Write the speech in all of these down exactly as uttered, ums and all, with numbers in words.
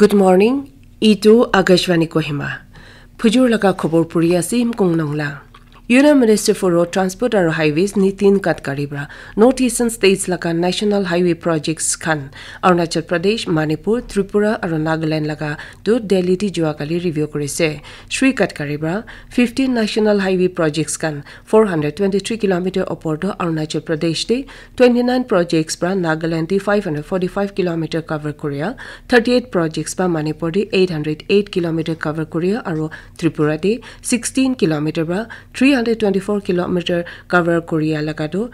Good morning. Itu Akashvani Kohima. Phujur laga khobor puri ase Himkung Nongla. Union Minister for Road Transport aru Highways Nitin Gadkari pra North Eastern States laga National Highway projects khan Arunachal Pradesh, Manipur, Tripura aru Nagaland laga tu Delhi ti jua kali review kurise. Shri Gadkari pra fifteen National Highway projects khan four hundred twenty-three kilometer opor tu Arunachal Pradesh ti twenty-nine projects pra Nagaland ti five hundred forty-five kilometer cover kuria, thirty-eight projects pra Manipur ti eight hundred eight kilometer cover kuria aru Tripura ti sixteen kilometer pra three hundred twenty-four kilometer cover kuria laga tu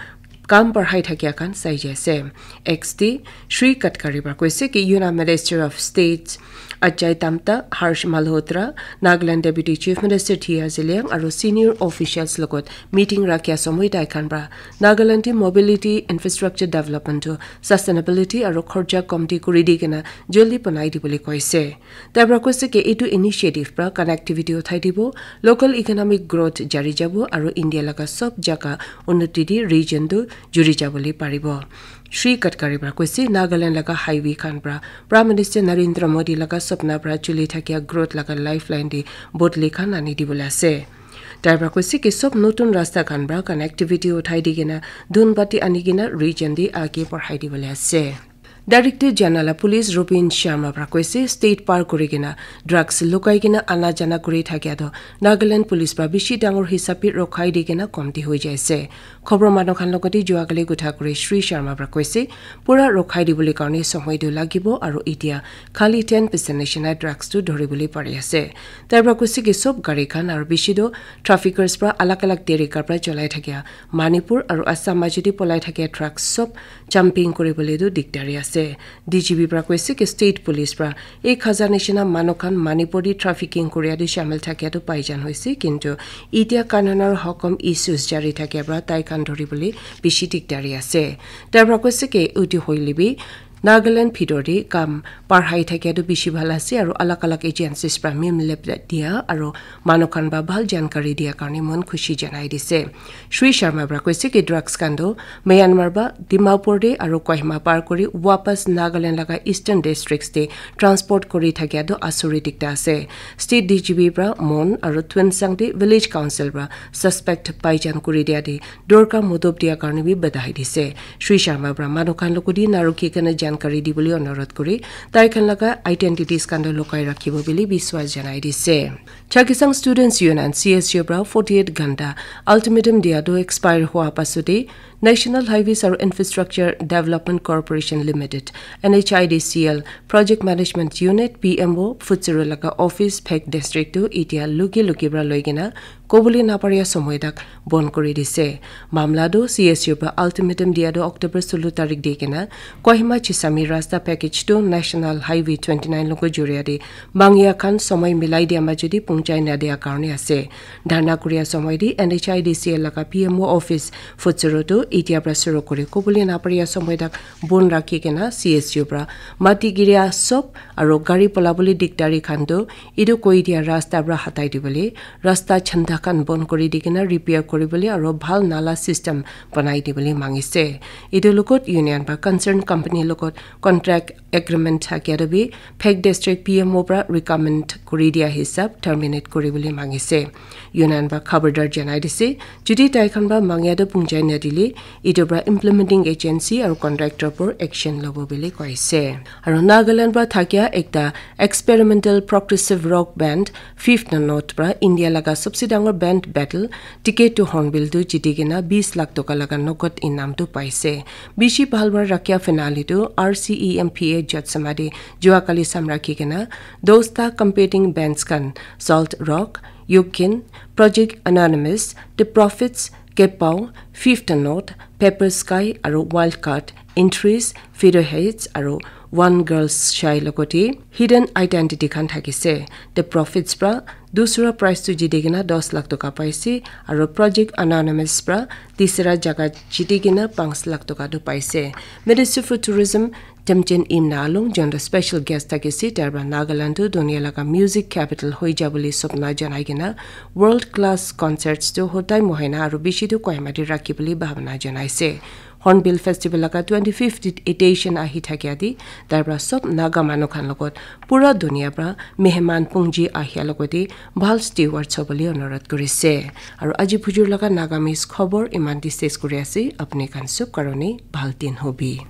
kam parhai thakia khan sai jai ase. X ti Shri Gadkari pra koise ki Union Minister of State Ajay Tamta, Harsh Malhotra, Nagaland Deputy Chief Minister T R Zeliang aru senior officials logot meeting rakhia somoi tai khan pra Nagaland ti mobility infrastructure development to sustainability aru khorcha komti kuri di kena joldi banai di bole koise. Tai pra koise ki etu initiative pra connectivity uthai dibo, local economic growth jari jabo aru India laga sob jaga unnati di region tu juri jabole paribo. Shri Gadkari pra koise Nagaland laga highway khan pra Prime Minister Narendra Modi laga sapna pra chuli thakia growth laga lifeline di bodli khan ani dibole ase. Tai pra koise ki sob notun rasta khan pra connectivity uthai di kena dhun bati ani kena region di age parhai dibole ase. Director General of Police Rupin Sharma pra koise state par kuri kena drugs lukai kena ana jana kuri thakia to Nagaland Police pra bishi dangor hisab bi rokhai di kena komti hoi jai ase. Khobor manu khan logoti jua kali kotha kuri Shri Sharma pra koise pura rokhai dibole karne somoi tu lagibo aru itia khali ten percent nishina drugs tu dhoribole pari ase. Tai pra koise ki sob gari khan aru bishi tu traffickers pra alag alag tarika pra cholai thakia Manipur aru Assam majoti polai thakia truck sob jumping kuribole tu dikdari ase. D G P pra koise ki state police pra ek hajar nishina manu khan Manipur di trafficking kuria tu shamil thakia tu paijan hoise, kintu itia kanunor hokom issues jari thakia pra tai khan dhoribole bishi dikdari ase. Tai pra koise ki uti hoile bi Nagaland bhitor te kam parhai thakia tu bishi bhal ase aru alag alag agencies pra mim lep dia aru manu khan ba bhal jankari dia karne mon khushi janai dise. Shri Sharma pra koise ki drugs khan tu Myanmar ba Dimapur te aru Kohima par kuri wapas Nagaland laga eastern districts te transport kuri thakia tu asuri dikta ase. State D G P pra Mon aru Tuensang te village council pra suspect paijan kuri dia te dorka mudop dia karne bi badai dise. Shri Sharma pra manu khan logoti narukhi kena jankari dibole onurodh kuri tai khan laga identities khan tu lukai rakhibo bili biswas janai dise. Chakhesang Students Union, C S U pra forty-eight ghanta ultimatum dia tu expire hua pasute National Highways aru Infrastructure Development Corporation Limited, N H I D C L, Project Management Unit, P M O, Pfutsero laga office Phek District tu itia luki luki pra loi kena kobole naparia somoi tak bon kuri dise. Mamla tu C S U pra ultimatum dia tu October solo tarik di kena Kohima Chisami rasta package tu National Highway twenty-nine logo juria di mangia khan somoi milai dia majodi pungchai na dia karne ase. Dharna kuria somoi di N H I D C L laga P M O office Pfutsero tu itia pra suru kuri kobole naparia somoi tak bon rakhi kena C S U pra mati giria sob aru gari polabole dikdari khan tu etu koi dia rasta pra hatai dibole, rasta chanda khan bon kuri di kena repair kuribole aru bhal nala system banai dibole mangise. Etu logot union pra concern company logot contract agreement thakia tu bi Phek District P M O pra recommend kuri dia hisab terminate kuribole mangise. Union pra khabardar janai dise, jodi tai khan pra mangia tu pungchai na dile, etu pra implementing agency aru contractor por action lobo bole koise. Aru Nagaland pra thakia ekta experimental progressive rock band Fifth Note pra India laga sabse dangor band battle Ticket to Hornbill tu jiti kena bis lakh toka laga nokot inam tu paise. Bishi bhal para rakhia finale tu R C E M P A Jotsoma te jua kali sam rakhi kena dosta competing bands khan Salt Rock, Yukin, Project Anonymous, The Prophets, Kepao, Fifth Note, Pepper Sky aru Wildcard, Entries, Featherheads aru One Girl's Shy logote Hidden Identity khan thakise. The Prophets pra dusra prize tu jiti kena dos lakh toka paise aru Project Anonymous pra tisra jaga jiti kena panch lakh toka tu paise. Minister for Tourism Temjen Imna Along, jon tu special guest thakise, tar pra Nagaland tu dunia laga music capital hoi ja bole sopna janai kena world class concerts tu hotai mohaina aru bishi tu Kohima te rakhi bole bhabna janaise. Hornbill Festival laga twenty fifth edition ahi thakia di, tar pra sob Naga manu khan logot pura dunia pra meheman pungji ahia logote bhal steward sobole onurodh kurise. Aru aji phujur laga Nagamese khobor iman di ses kuri ase, apni khan sob karone bhal din hobi.